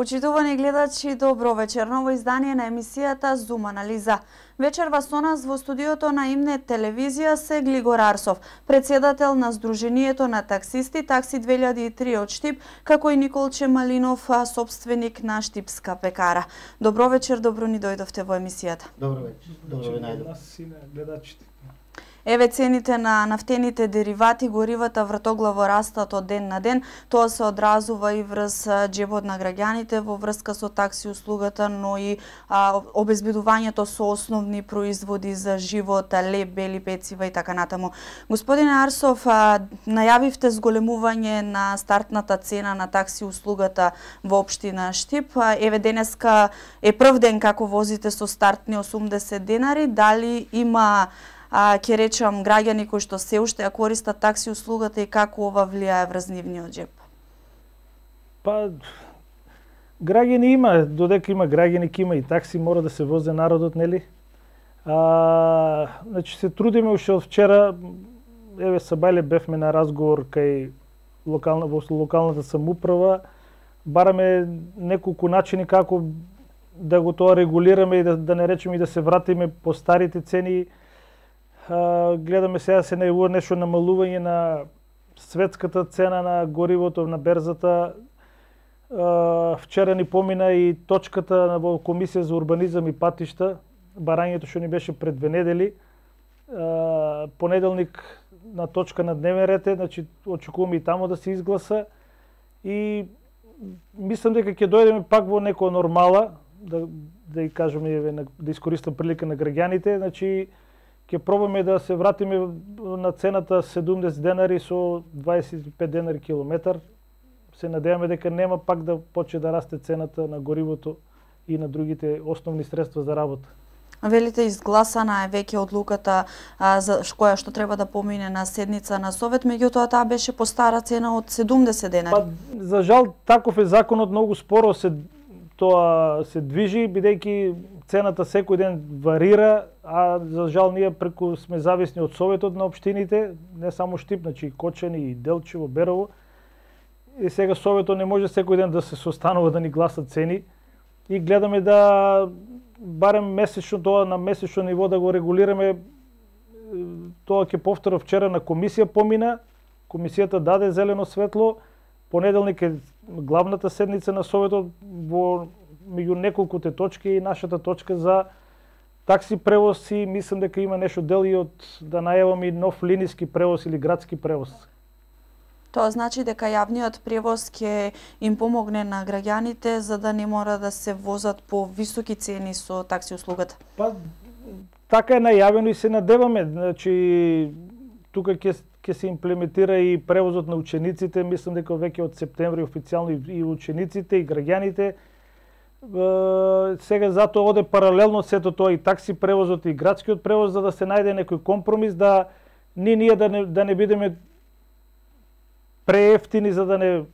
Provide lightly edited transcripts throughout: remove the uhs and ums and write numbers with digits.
Почитувани гледачи, добро вечер. Ново издание на емисијата Зум анализа. Вечерва со нас во студиото на Имнет телевизија се Глигор Арсов, председател на Сдруженијето на таксисти Такси 2003 од Штип, како и Николче Малинов, собственик на Штипска пекара. Добро вечер, добро ни дојдовте во емисијата. Добро вечер. Добро ви најдов. Нас и на гледачите. Еве цените на нафтените деривати, горивата вртоглаво растат од ден на ден. Тоа се одразува и врз џебот на граѓаните во врска со такси услугата, но и обезбедувањето со основни производи за живот, леб, бели пецива и така натаму. Господине Арсов, најавивте зголемување на стартната цена на такси услугата во општина Штип. Еве денеска е прв ден како возите со стартни 80 денари. Дали има ќе речам граѓани кои што се уште ја користат такси услугата и како ова влијае врз нивниот џеб? Па граѓани има, додека има граѓани, ќе има и такси, мора да се возе народот, нели? Значи се трудиме уште од вчера. Еве сабајле бевме на разговор кај локалната самоуправа. Бараме неколку начини како да го тоа регулираме и да не речеме и да се вратиме по старите цени. Гледаме сега се најавува нешто намалување на светската цена на горивото на берзата. Вчера ни помина и точката во Комисија за урбанизам и патишта, барањето што ни беше пред 2 недели. Понеделник на точка на дневен ред е, значи очекуваме и тамо да се изгласа и мислам дека ќе дојдеме пак во некоја нормала, да кажеме, да искористам прилика на граѓаните, значи ќе пробаме да се вратиме на цената 70 денари со 25 денари километар. Се надеваме дека нема пак да почне да расте цената на горивото и на другите основни средства за работа. Велите, изгласана е веќе одлуката за која што треба да помине на седница на Совет, меѓутоа таа беше по стара цена од 70 денари. Па, за жал, таков е законот, многу споро тоа се движи, бидејќи цената секој ден варира, а за жал ние преку сме зависни од Советот на општините, не само Штип, значи и Кочани, и Делчево, Берово. И сега Советот не може секој ден да се состанува да ни гласа цени и гледаме да барем месечно тоа на месечно ниво да го регулираме. Тоа ќе повторам, вчера на комисија помина, комисијата даде зелено светло, понеделник е главната седница на Советот во меѓу неколкуте точки и нашата точка за такси превоз и мислам дека има нешто дел и од да најаваме и нов линиски превоз или градски превоз. Тоа значи дека јавниот превоз ќе им помогне на граѓаните за да не мора да се возат по високи цени со такси услугата. Па така е најавено и се надеваме, значи тука ќе се имплементира и превозот на учениците, мислам дека веќе од септември официјално и учениците и граѓаните. Сега затоа оде паралелно сето тоа и такси превозот и градскиот превоз за да се најде некој компромис да ние да не бидеме преевтини за да не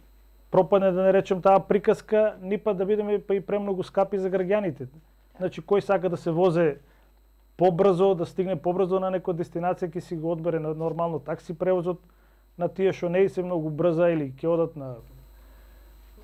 пропадне, да не речем таа приказка, ни па да бидеме па и премногу скапи за граѓаните. Значи кој сака да се возе побрзо, да стигне побрзо на некоја дестинација, ќе си го одбере на нормално такси превозот, на тие што не се многу брза или ќе одат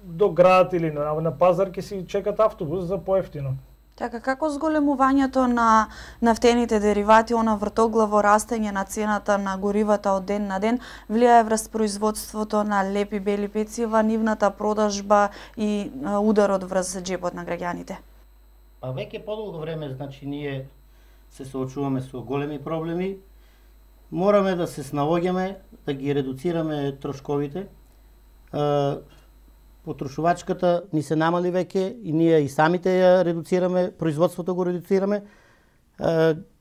до град или на пазар, ќе си чекат автобус за поевтино. Така, како зголемувањето на нафтените деривати, она вртоглаво растење на цената на горивата од ден на ден, влијае врз производството на леб и бели пецива, нивната продажба и ударот врз џебот на граѓаните? Па веќе подолго време, значи ние се соочуваме со големи проблеми. Мораме да се снаоѓаме, да ги редуцираме трошковите. Потрошувачката ни се намали веќе и ние и самите ја редуцираме, производството го редуцираме,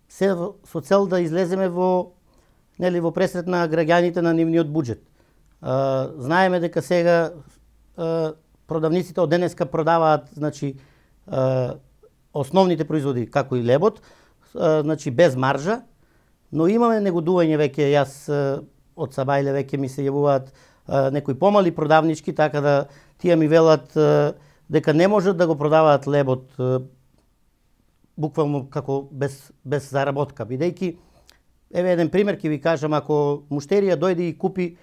се со цел да излеземе во пресрет на граѓаните на нивниот буџет. Знаеме дека сега продавниците од денеска продаваат, значи основните производи како и лебот, значи без маржа, но имаме негодување веќе, јас од сабајле веќе ми се јавуваат некои помали продавнички, така да тие ми велат дека не можат да го продаваат лебот буквално како без заработка, бидејќи еве еден пример ќе ви кажам, ако муштерија дојде и купи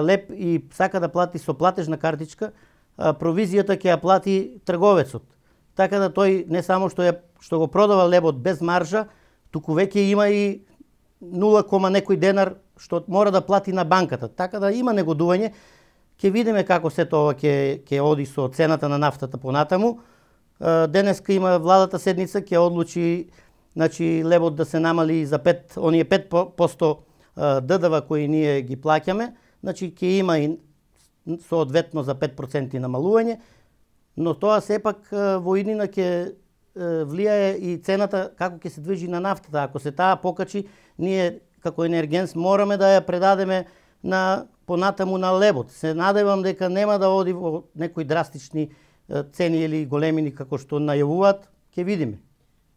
леб и сака да плати со платежна картичка, провизијата ќе ја плати трговецот. Така да тој не само што го продава лебот без маржа, туку веќе има и 0, некој денар што мора да плати на банката. Така да има негодување. Ќе видиме како се тоа ќе оди со цената на нафтата понатаму. Денеска има владата седница ќе одлучи, значи лебот да се намали за 5% ДДВ кои ние ги плаќаме, значи ќе има и соодветно за 5% намалување, но тоа сепак во иднина ќе влијае и цената како ќе се движи на нафтата. Ако се таа покачи, ние како енергенс мораме да ја предадеме на понатаму на лебот. Се надевам дека нема да оди во некои драстични цени или големини како што најавуваат, ќе видиме.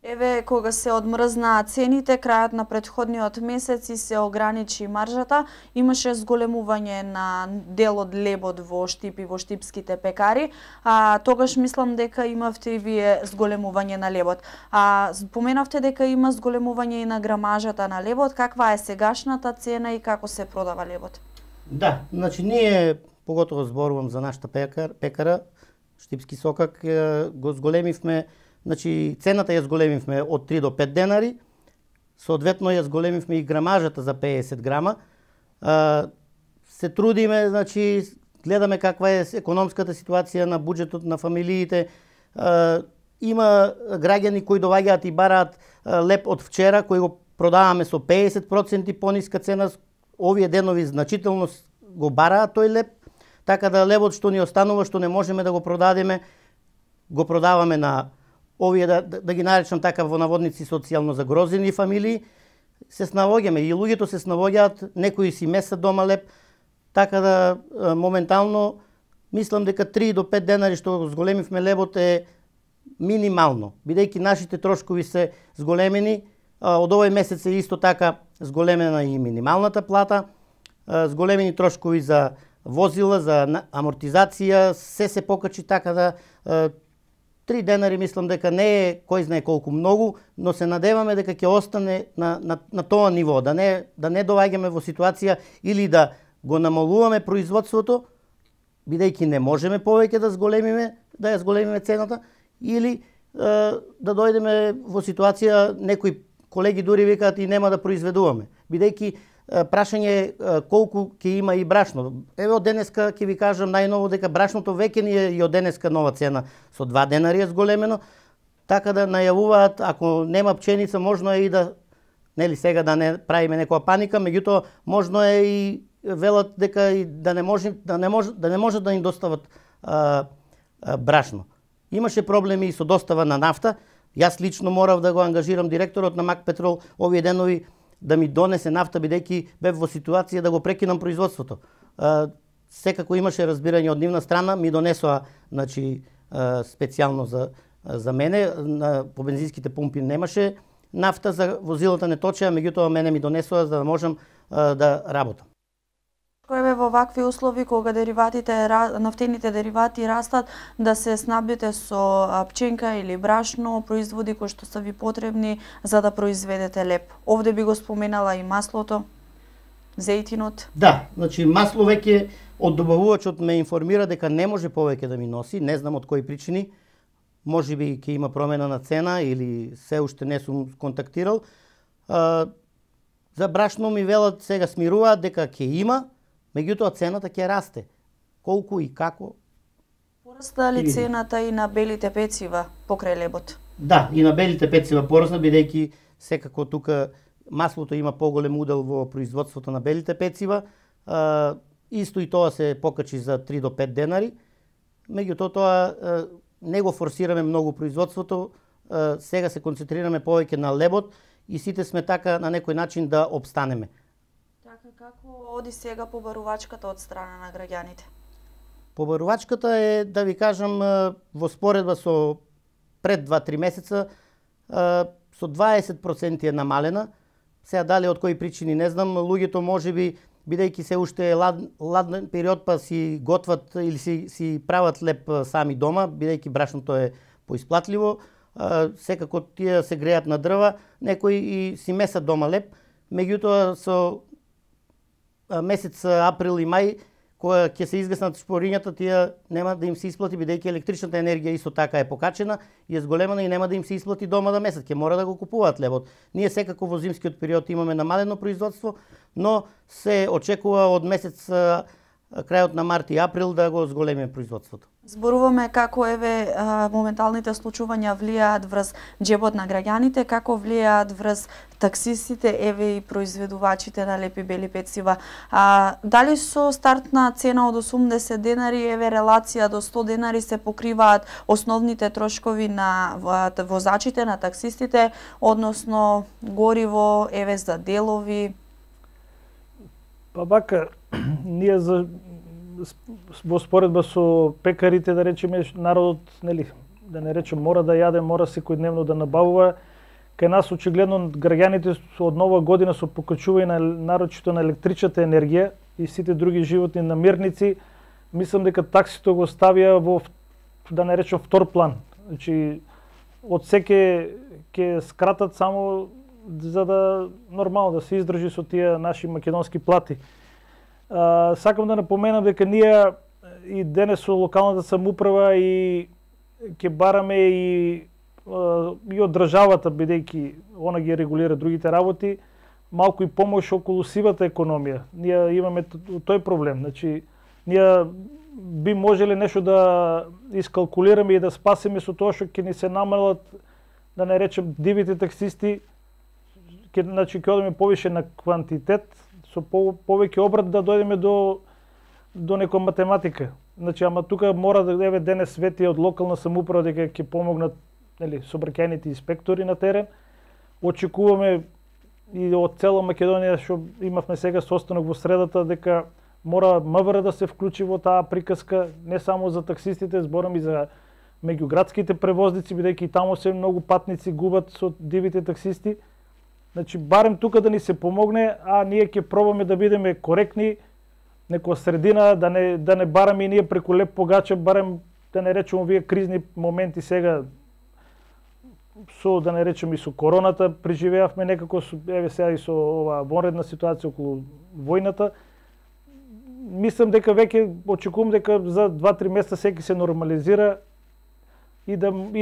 Еве, кога се одмрзна цените, крајот на претходниот месец и се ограничи маржата, имаше зголемување на дел од лебот во Штип и во штипските пекари, тогаш мислам дека имавте и вие зголемување на лебот. Споменавте дека има зголемување и на грамажата на лебот, каква е сегашната цена и како се продава лебот? Да, значи ние, поготово зборувам за нашата пекара, Штипски сокак, го зголемивме. Значи, цената ја зголемивме од 3 до 5 денари, соодветно ја зголемивме и грамажата за 50 грама. Се трудиме, значи, гледаме каква е економската ситуација на буџетот на фамилиите. Има граѓани кои доаѓаат и бараат леб од вчера, кој го продаваме со 50% пониска цена. Овие денови значително го бараат тој леб, така да лебот што ни останува, што не можеме да го продадеме, го продаваме на овие, да ги наречам така во наводници, социјално загрозени фамилии. Се снаоѓаме и луѓето се снаоѓаат, некои си месат дома леб, така да моментално мислам дека 3 до 5 денари што го зголемивме лебот е минимално, бидејќи нашите трошкови се зголемени. Од овој месец е исто така зголемена и минималната плата, зголемени трошкови за возила, за амортизација, се покачи, така да 3 денари мислам дека не е кој знае колку многу, но се надеваме дека ќе остане на тоа ниво, да не доаѓаме во ситуација или да го намалуваме производството, бидејќи не можеме повеќе да ја зголемиме цената, или да дојдеме во ситуација, некои колеги дури викаат и нема да произведуваме, бидејќи прашање е колку ќе има и брашно. Еве од денеска ќе ви кажам најново дека брашното веќе ни е и од денеска нова цена со 2 денари е зголемено, така да најавуваат ако нема пченица можно е и да, нели сега да не правиме некоја паника, меѓутоа можно е и велат дека и да не може да им достават брашно. Имаше проблеми и со достава на нафта. Јас лично морав да го ангажирам директорот на МАК Петрол овие денови да ми донесе нафта, бидејќи бев во ситуација да го прекинам производството. Секако имаше разбирање од нивна страна, ми донесоа, значи, специјално за мене, по бензинските пумпи немаше нафта, за возилата не точеа, меѓутоа мене ми донесоа за да можам да работам. Еве во вакви услови кога нафтените деривати растат, да се снабдите со пченка или брашно, производи кои што се ви потребни за да произведете леб. Овде би го споменала и маслото, зејтинот. Да, значи масло веќе од добавувачот ме информира дека не може повеќе да ми носи, не знам од кои причини. Можеби ќе има промена на цена или се уште не сум контактирал. За брашно ми велат сега смируваат дека ќе има, меѓутоа цената ќе расте. Колку и како? Пораста ли цената и на белите пецива покрај лебот? Да, и на белите пецива порасна, бидејќи секако тука маслото има поголем удел во производството на белите пецива. Исто и тоа се покачи за 3 до 5 денари. Меѓутоа тоа не го форсираме многу производството. Сега се концентрираме повеќе на лебот и сите сме така на некој начин да обстанеме. Како оди сега побарувачката од страна на граѓаните? Побарувачката е, да ви кажам, во споредба со пред 2-3 месеца со 20% е намалена. Сега дали од кои причини не знам, луѓето можеби бидејќи се уште е ладен период па си готват или си прават леб сами дома, бидејќи брашното е поисплатливо, секако тие се греат на дрва, некои и си месат дома леб, меѓутоа со месец април и мај, кога ќе се изгаснат шпорињата, тие нема да им се исплати, бидејќи електричната енергија исто така е покачена и е зголемена и нема да им се исплати дома да месец, ќе мора да го купуваат лебот. Ние секако во зимскиот период имаме намалено производство, но се очекува од месец крајот на март и април да го зголемиме производството. Зборуваме како моменталните случувања влијаат врз џебот на граѓаните, како влијаат врз таксистите, и произведувачите на лепи бели пецива. Дали со стартна цена од 80 денари, релација до 100 денари се покриваат основните трошкови на возачите, на таксистите, односно гориво, за делови? Па бака, ние во споредба со пекарите, да речеме, народот, да не речем, мора да јаде, мора секојдневно да набавува. Кај нас очигледно граѓаните од нова година со покачување нарочито на електричната енергија и сите други животни намирници, мислам дека таксито го ставија во, да не речем, втор план. Значи, од секе ќе скратат само за да нормално да се издржи со тие наши македонски плати. Сакам да напоменам дека ние и денес со локалната самоуправа и ќе бараме и од државата, бидејќи она ги регулира другите работи, малку и помош околу сивата економија. Ние имаме тој проблем. Значи, ние би можеле нешто да искалкулираме и да спасиме со тоа што ќе ни се намалат, да не речем, дивите таксисти, значи ќе одиме повише на квантитет, со повеќе обрат да дојдеме до некоја математика. Значи, ама тука мора да денес вети од локална самоуправа дека ќе помогнат сообраќајните инспектори на терен. Очекуваме и од цела Македонија, што имавме сега состанок во средата, дека мора МВР да се вклучи во таа приказка, не само за таксистите, зборам и за меѓуградските превозници, бидејќи таму се многу патници губат со дивите таксисти. Значи, барем тука да ни се помогне, а ние ќе пробаме да бидеме коректни, некоја средина, да не бараме и ние преку леп погача, барем да не речеме овие кризни моменти сега, со, да не речем, и со короната преживеавме некако, сега и со оваа вонредна ситуација околу војната. Мислам дека веќе очекувам дека за 2-3 месеца секи се нормализира и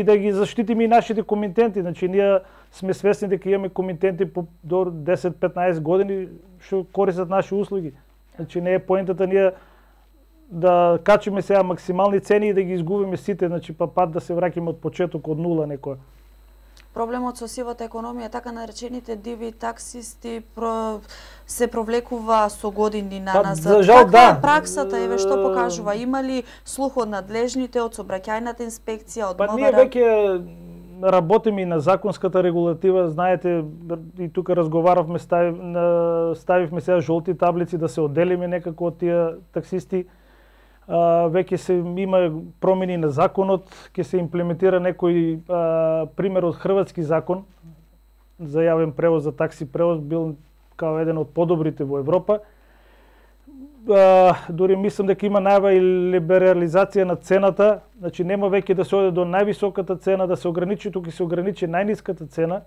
да ги заштитиме и нашите комитенти. Значи, ние сме свесни дека имаме комитенти до 10-15 години што користат наши услуги. Значи, не е поентата ние да качиме сега максимални цени и да ги изгубиме сите, значи пат да се враќаме од почеток, од нула некоја. Проблемот со сивата економија, така наречените диви таксисти, се провлекува со години наназад. За жал, каква е праксата, што покажува? Има ли слух од надлежните, од сообраќајната инспекција, од МВР? Ние веќе работиме и на законската регулатива, знаете, и тука разговаравме, ставивме сега жолти таблици да се одделиме некако од тие таксисти. Веќе има промени на законот, ќе се имплементира некој пример од хрватски закон за јавен превоз, за такси превоз, бил као еден од подобрите во Европа. Дори мислам дека има најава и либерализација на цената, значи нема веќе да се оде до највисоката цена, да се ограничи, тука се ограничи најниската цена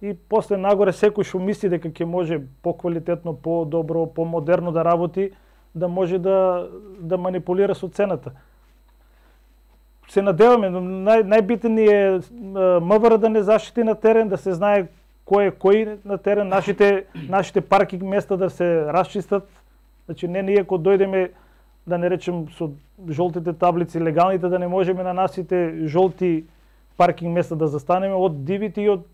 и после нагоре секој што мисли дека ќе може поквалитетно, подобро, помодерно да работи, да може да манипулира со цената. Се надеваме, најбитен е МВР да не заштити на терен, да се знае кој е кој на терен, нашите паркинг места да се расчистат. Значи, не ние кога дојдеме, да не речем, со жолтите таблици, легалните, да не можеме на нашите жолти паркинг места да застанеме од дивите и од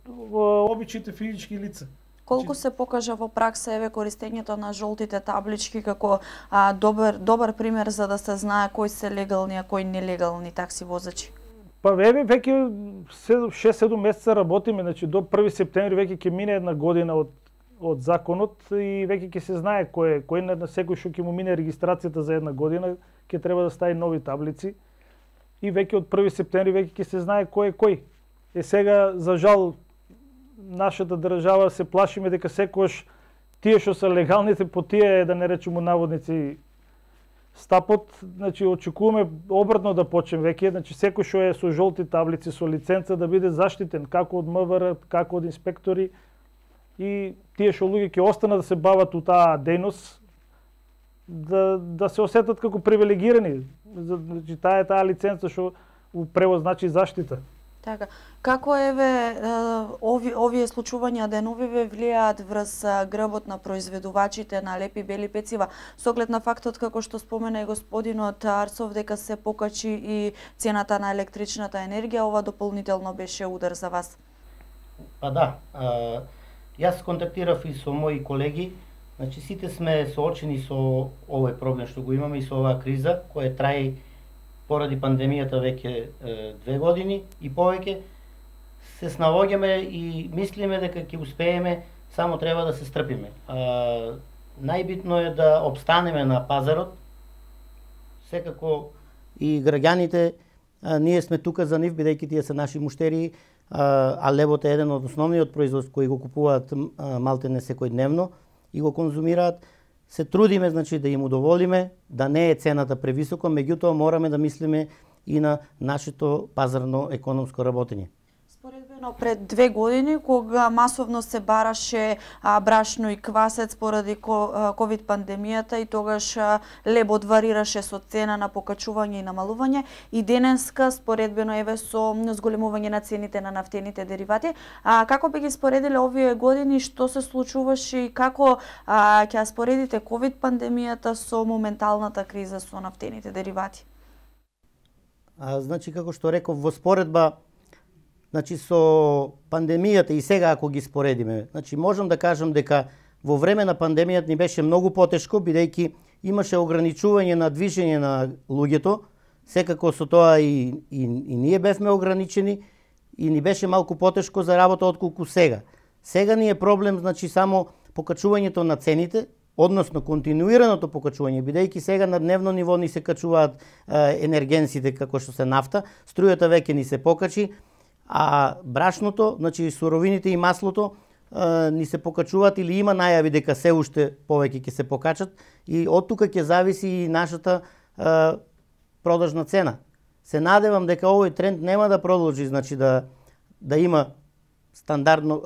обичните физички лица. Колку се покажа во пракса користењето на жолтите таблички како добар пример за да се знае кои се легални, а кои нелегални такси возачи? Па веќе 6-7 месеца работиме, значи до 1 септември веќе ќе мине една година од законот и веќе ќе се знае кој на секој што ќе му мине регистрацијата за една година, ќе треба да стави нови таблици и веќе од 1 септември веќе ќе се знае кој е кој. Сега, за жал, нашата држава се плашиме дека секојаш тие што се легалните по тие, да не речеме наводници, стапот, значи очекуваме обратно да почнем веќе, значи секој што е со жолти таблици, со лиценца да биде заштитен како од МВР, како од инспектори и тие што луѓе ќе останат да се бават у таа дејност, да се осетат како привилегирани. Значи таа лиценца што у превод значи заштита. Така, како овие случувања деновиве влијаат врз грбот на произведувачите на лепи бели пецива, со оглед на фактот како што спомена и господинот Арсов дека се покачи и цената на електричната енергија, ова дополнително беше удар за вас? Па да, јас контактирав и со мои колеги, значи сите сме соочени со овој проблем што го имаме и со оваа криза која трае поради пандемијата веќе 2 години и повеќе. Се снаоѓаме и мислиме дека ќе успееме, само треба да се стрпиме. Најбитно е да обстанеме на пазарот. Секако и граѓаните, ние сме тука за нив, бидејќи тие се наши муштери, а лебот е еден од основниот производ кои го купуваат малтене секојдневно и го конзумираат. Се трудиме, значи, да им удоволиме, да не е цената превисока, меѓутоа мораме да мислиме и на нашето пазарно економско работење. Споредбено пред 2 години, кога масовно се бараше брашно и квасец поради ковид пандемијата и тогаш лебот варираше со цена на покачување и намалување, и денеска споредбено со зголемување на цените на нафтените деривати. Како би ги споредиле овие години, што се случуваше и како ќе споредите ковид пандемијата со моменталната криза со нафтените деривати? Значи, како што реков, во споредба, значи, со пандемијата и сега ако ги споредиме, значи, можам да кажам дека во време на пандемијата ни беше многу потешко, бидејќи имаше ограничување на движење на луѓето, секако со тоа и ние бевме ограничени и ни беше малку потешко за работа отколку сега. Сега ни е проблем, значи, само покачувањето на цените, односно континуираното покачување, бидејќи сега на дневно ниво ни се качуваат енергенсите како што се нафта, струјата веќе ни се покачи, а брашното, значи суровините и маслото ни се покачуваат или има најави дека се уште повеќе ќе се покачат и од тука ќе зависи и нашата продажна цена. Се надевам дека овој тренд нема да продолжи, значи да има стандардно,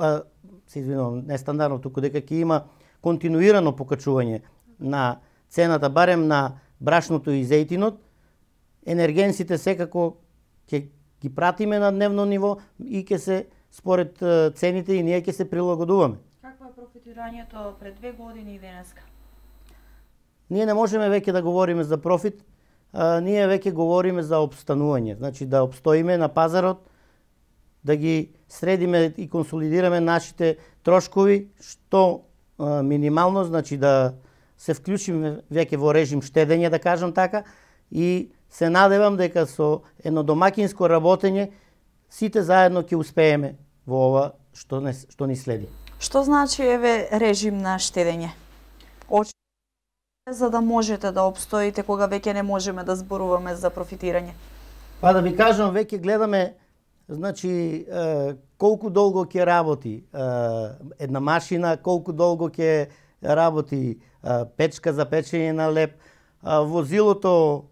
се извинувам, не стандардно, туку дека ќе има континуирано покачување на цената, барем на брашното и зејтинот. Енергенсите секако ќе ги пратиме на дневно ниво и ќе се според цените и ние ќе се прилагодуваме. Какво е профитирањето пред 2 години и денеска? Ние не можеме веќе да говориме за профит, ние веќе говориме за обстанување, значи да обстоиме на пазарот, да ги средиме и консолидираме нашите трошкови, што минимално, значи да се вклучиме веќе во режим штедење, да кажам така, и се надевам дека со едно домакинско работење сите заедно ќе успееме во ова што ни следи. Што значи режим на штедење? За да можете да обстоите кога веќе не можеме да зборуваме за профитирање? Па да ви кажам, веќе гледаме, значи, колку долго ќе работи една машина, колку долго ќе работи печка за печење на леб, возилото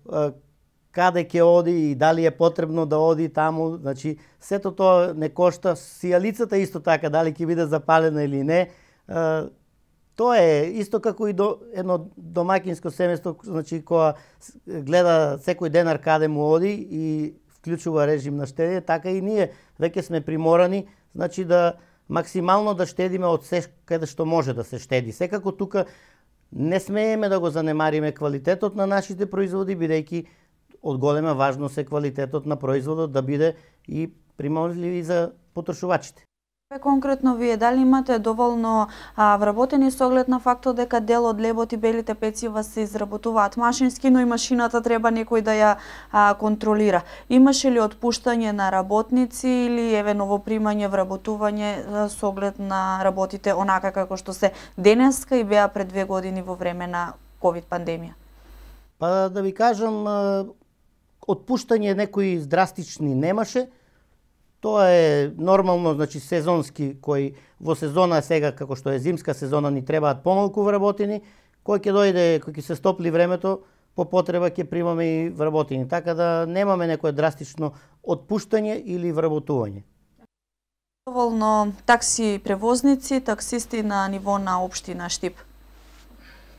каде ќе оди и дали е потребно да оди таму, значи сето тоа не кошта, сијалицата исто така, дали ќе биде запалена или не. Тоа е исто како и едно домакинско семејство, значи која гледа секој денар каде му оди и вклучува режим на штедење, така и ние веќе сме приморани, значи да максимално да штедиме од се каде што може да се штеди. Секако тука не смееме да го занемариме квалитетот на нашите производи, бидејќи од голема важност е квалитетот на производот да биде и примамлив за потрошувачите. Конкретно вие дали имате доволно вработени со оглед на фактот дека дел од лебот и белите пецива се изработуваат машински, но и машината треба некој да ја контролира. Имаше ли отпуштање на работници или новопримање, вработување со оглед на работите онака како што се денеска и беа пред 2 години во време на ковид пандемија? Па да ви кажам, отпуштање некои драстични немаше. Тоа е нормално, значи сезонски, кој во сезона сега, како што е зимска сезона, ни требаат помалку вработени, кој ќе дојде, кој ќе се стопли времето, по потреба ќе примаме и вработени. Така да немаме некое драстично отпуштање или вработување. Доволно такси превозници, таксисти на ниво на општина Штип?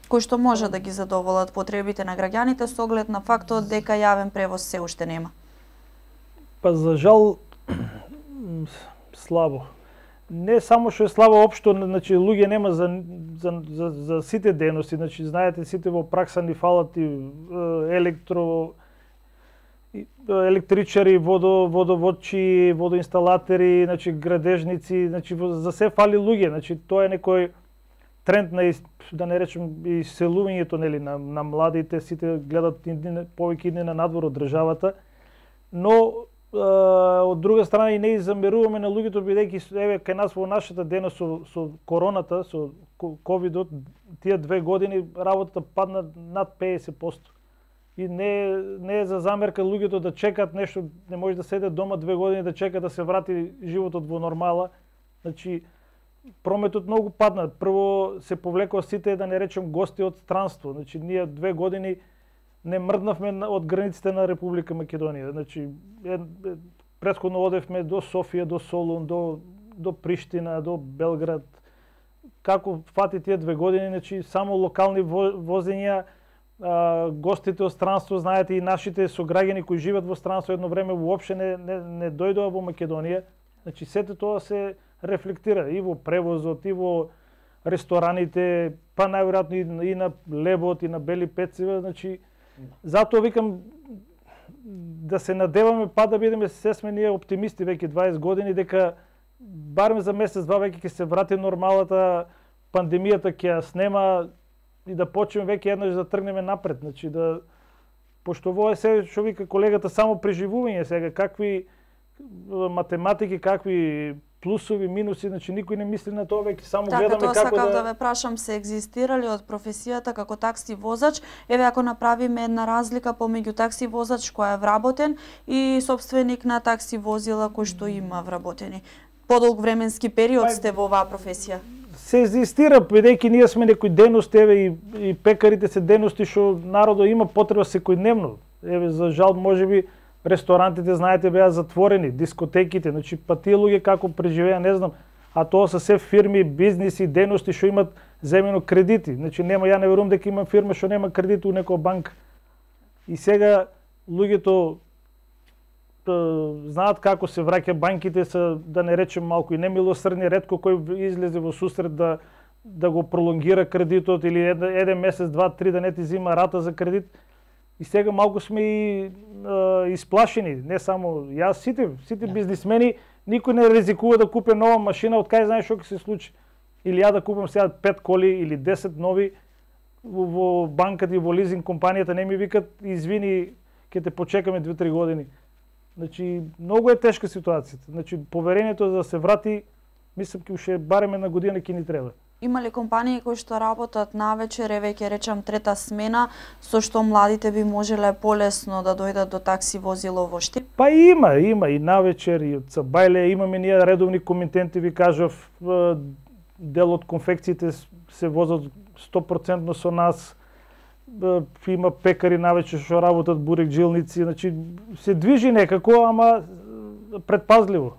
кои што може да ги задоволат потребите на граѓаните со оглед на фактот дека јавен превоз се уште нема? Па за жал слабо. Не само што е слабо општо, значи луѓе нема за сите дејности, значи знаете сите во пракса ни фалат и електричари, водоводчи, водоинсталатери, значи градежници, значи за се фали луѓе, значи тоа е некој тренд на да не речем иселувањето нели на младите, сите гледат повеќе идни на надвор од државата, но од друга страна и не замеруваме на луѓето бидејќи еве кај нас во нашата дејност со короната, со ковидот, тие 2 години работата падна над 50%. И не е за замерка луѓето да чекат нешто, не може да седе дома 2 години да чека да се врати животот во нормала. Значи прометот многу падна. Прво се повлекоа сите, да не речем, гости од странство. Значи ние 2 години не мрднавме од границите на Република Македонија. Значи претходно одевме до Софија, до Солун, до Приштина, до Белград. Како фати тие 2 години, значи само локални возења, гостите од странство, знаете и нашите сограѓани кои живеат во странство едно време воопште не дојдоа во Македонија. Значи сето тоа се рефлектира и во превозот, и во рестораните, па најверојатно и на лебот, и на бели пецива, значи затоа викам да се надеваме па да бидеме се сме ние оптимисти веќе 20 години дека барем за месец-два веќе ќе се врати нормалата, пандемијата ќе ја снема и да почнеме веќе еднаш да тргнеме напред, значи да пошто во се што вика колегата само преживување сега, какви математики, какви плусови, минуси, значи никој не мисли на тоа, веќе само гледаме како да... Така, тоа сакав да ве прашам, се екзистирали од професијата како такси возач, еве ако направиме една разлика помеѓу такси возач кој е вработен и собственик на такси возила кој што има вработени. Подолг временски период сте во оваа професија? Се екзистира, бидејќи ние сме некои дејности, еве и пекарите се дејности што народот има потреба секојдневно. Еве за жал можеби ресторантите, знаете, беа затворени, дискотеките, значи па тие луѓе како преживеа, не знам, а тоа се се фирми, бизниси, дејности што имат земено кредити. Значи нема, ја не верувам дека има фирма што нема кредит у некоја банка. И сега луѓето знаат како се враќа, банките се, да не речем, малку и немилосрдни, ретко кој излезе во сусрет да го пролонгира кредитот или еден месец, 2-3 да не ти зима рата за кредит. И сега малку сме и исплашени, не само јас, сите бизнисмени, никој не ризикува да купи нова машина, од кај знаеш што ќе се случи. Или ја да купам сега 5 коли или 10 нови во банката и во лизинг компанијата не ми викат извини, ќе те почекаме 2-3 години. Значи многу е тешка ситуацијата. Значи поверението за да се врати, мислам ќе уште барем една година ќе ни треба. Има ли компании кои што работат навечер, еве ќе речам трета смена, со што младите би можеле полесно да дојдат до такси возило во Штип? Па има и навечер, и од Цабајле, имаме ние редовни комитенти, ви кажав, дел од конфекциите се возат 100% со нас, има пекари навечер што работат бурек-джилници, значи се движи некако, ама предпазливо.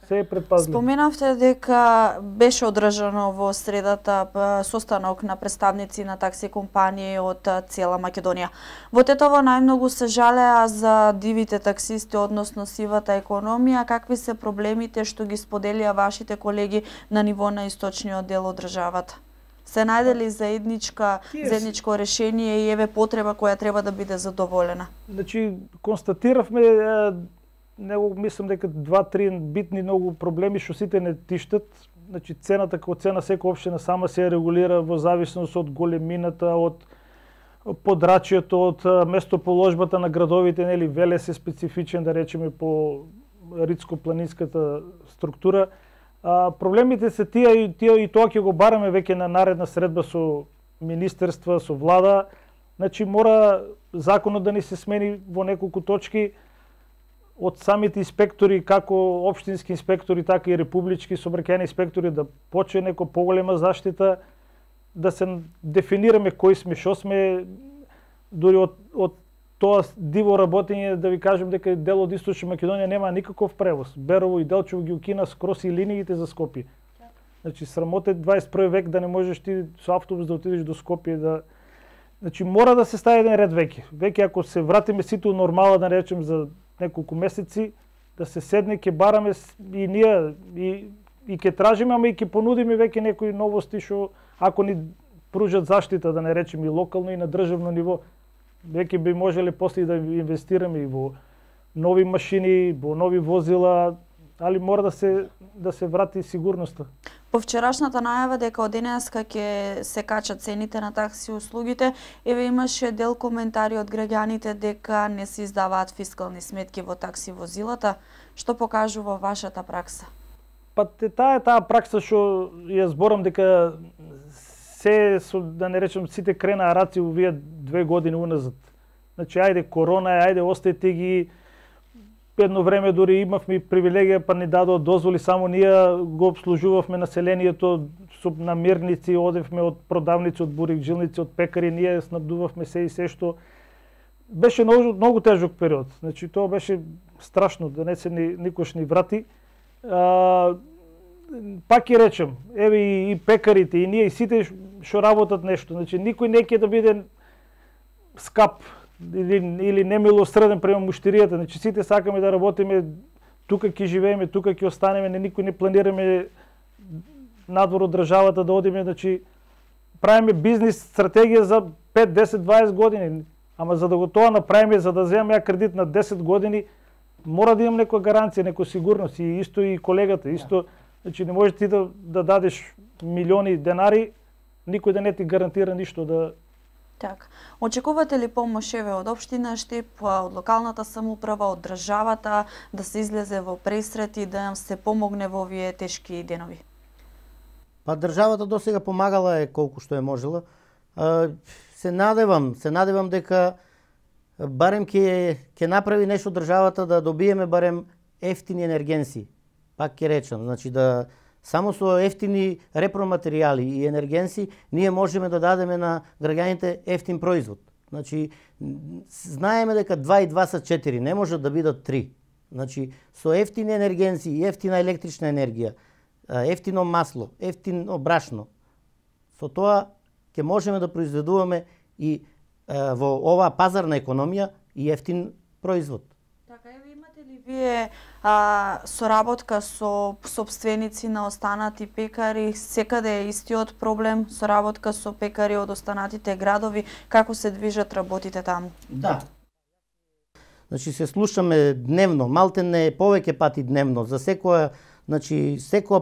Се е предпазливо. Споменавте дека беше одржано во средата состанок на представници на такси компании од цела Македонија. Во Тетово најмногу се жалеа за дивите таксисти, односно сивата економија. Какви се проблемите што ги споделија вашите колеги на ниво на источниот дел од државата? Се најдели заедничко решение и еве потреба која треба да биде задоволена? Значи, констатиравме мислам дека 2-3 битни многу проблеми што сите не тиштат. Значи цената како цена секоја општина сама се регулира во зависност од големината, од подрачјето, од местоположбата на градовите, нели Велес е специфичен, да речеме, по ридско-планинската структура. Проблемите се тие и тоа ќе го бараме веќе на наредна средба со министерства, со влада. Значи мора законот да ни се смени во неколку точки, од самите инспектори, како општински инспектори, така и републички сообраќајни инспектори, да почне некоја поголема заштита, да се дефинираме кои сме, што сме, дури од тоа диво работење, да ви кажем дека дел од Источна Македонија нема никаков превоз. Берово и Делчево ги укина скрос и линиите за Скопје. Значи срамота е 21 век да не можеш ти со автобус да отидеш до Скопје, Значи мора да се стави еден ред веќе. Веќе ако се вратиме сите у нормала, да речем за неколку месеци, да се седне, ќе бараме и ние и ќе тражиме, ама и ќе понудиме веќе некои новости што ако ни пружат заштита, да не речем и локално и на државно ниво, веќе би можеле после да инвестираме и во нови машини, во нови возила, али мора да се врати сигурноста. По вчерашната најава дека од денеска ќе се качат цените на такси услугите, еве имаше дел коментари од граѓаните дека не се издаваат фискални сметки во такси возилата. Што покажува вашата пракса? Па таа пракса што ја зборам дека се, да не речем, сите кренаа раци овие 2 години уназад. Значи, ајде корона, ајде остајте ги. Едно време дури имавме привилегија, па ни дадоа дозволи, само ние го обслужувавме населението со намирници, одевме од продавници, од бурик-джилници, од пекари, ние снабдувавме се и се што беше многу тежок период. Значи тоа беше страшно, да не се никош ни врати. Пак ќе речем, еве и пекарите, и ние, и сите што работат нешто. Значи никој не ќе да биде скап или немилосреден према муштиријата. Значи сите сакаме да работиме, тука ќе живееме, тука ќе останеме, никој не планираме надвор од државата да одиме, значи правиме бизнис стратегија за 5, 10, 20 години. Ама за да го тоа направиме, за да земам ја кредит на 10 години, мора да имам некоја гаранција, некоја сигурност, и исто и колегата, исто, значи не можеш ти да дадеш милиони денари, никој да не ти гарантира ништо да. Така. Очекувате ли помош еве од општина Штип, од локалната самоуправа, од државата да се излезе во пресрет и да им се помогне во овие тешки денови? Па државата досега помагала колку што е можела. Се надевам дека барем ќе направи нешто државата да добиеме барем ефтини енергенси. Пак ќе речам, значи да само со ефтини репроматеријали и енергенси ние можеме да дадеме на граѓаните ефтин производ. Значи знаеме дека 2 и 2 са 4, не може да бидат 3. Значи со ефтини енергенси и ефтина електрична енергија, ефтино масло, ефтино брашно, со тоа ќе можеме да произведуваме и во оваа пазарна економија и ефтин производ. Така, еве имате ли вие соработка со сопственици на останати пекари? Секаде е истиот проблем, соработка со пекари од останатите градови, како се движат работите таму? Да. Значи се слушаме дневно, малтене повеќе пати дневно, за секоја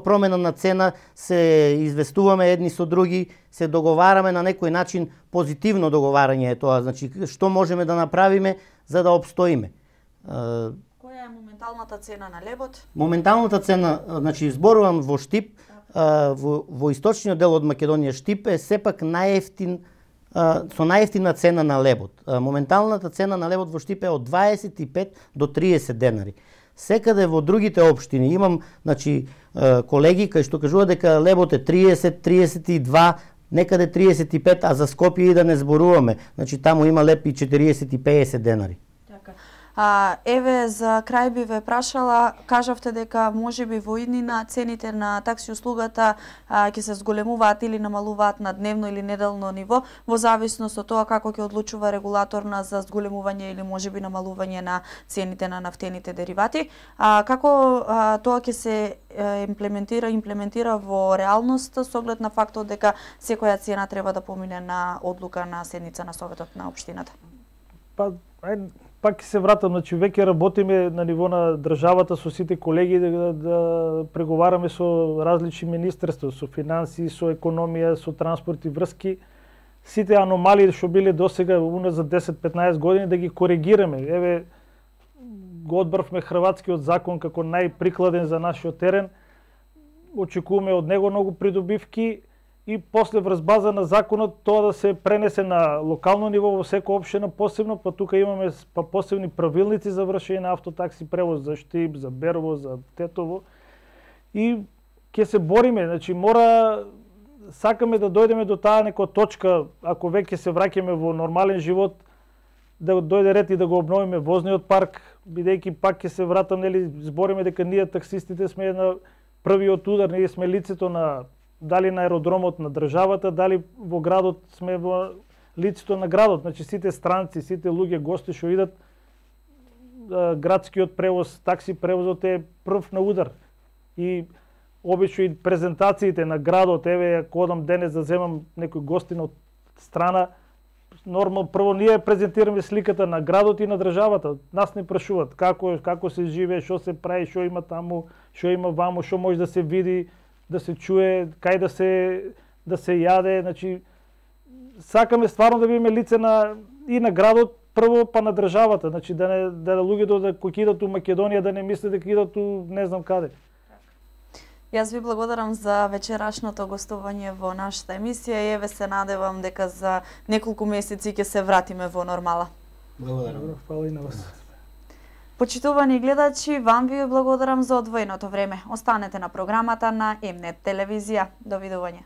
промена на цена се известуваме едни со други, се договараме на некој начин, позитивно договарање е тоа, значи што можеме да направиме за да обстоиме. Која е моменталната цена на лебот? Моменталната цена, значи зборувам во Штип, во источниот дел од Македонија, Штип е сепак со најефтина цена на лебот. Моменталната цена на лебот во Штип е од 25 до 30 денари. Секаде во другите општини имам, значи, колеги кои што кажуваат дека лебот е 30, 32, некаде 35, а за Скопје и да не зборуваме. Значи таму има леб и 40 и 50 денари. Еве за крај би ве прашала, кажавте дека можеби во иднина цените на такси услугата ќе се зголемуваат или намалуваат на дневно или неделно ниво, во зависност од тоа како ќе одлучува регулаторна за зголемување или можеби намалување на цените на нафтените деривати. Како тоа ќе се имплементира во реалност со оглед на фактот дека секоја цена треба да помине на одлука на седница на Советот на општината? Пак се вратам, значи веќе работиме на ниво на државата со сите колеги да преговараме со различни министерства, со финансии, со економија, со транспорт и врски. Сите аномалии што биле досега уназад 10-15 години да ги коригираме. Еве го одбравме хрватскиот закон како најприкладен за нашиот терен. Очекуваме од него многу придобивки и после врз база на законот тоа да се пренесе на локално ниво во секоја општина посебно, па тука имаме посебни правилници за вршење на автотакси превоз за Штип, за Берово, за Тетово. И ќе се бориме, значи сакаме да дојдеме до таа некоја точка, ако веќе се враќаме во нормален живот, да дојде ред и да го обновиме возниот парк, бидејќи пак ќе се вратам, нели, збориме дека ние таксистите сме на првиот удар, ние сме лицето на дали на аеродромот на државата, дали во градот сме во лицето на градот, значи сите странци, сите луѓе, гости што идат, градскиот превоз, такси превозот е прв на удар. И обично и презентациите на градот, еве ако одам денес да земам некој гостин од страна, нормално прво ние презентираме сликата на градот и на државата. Нас не прашуваат како се живее, што се прави, што има таму, што има ваму, што може да се види, да се чуе, кај да се јаде, значи сакаме стварно да бидеме лице и на градот прво, па на државата, значи да луѓето кои идат у Македонија да не мислат дека идат у не знам каде. Јас ви благодарам за вечерашното гостување во нашата емисија и еве се надевам дека за неколку месеци ќе се вратиме во нормала. Благодарам. Фала и на вас. Почитувани гледачи, вам ви благодарам за одвоеното време. Останете на програмата на М-нет телевизија. Довидување.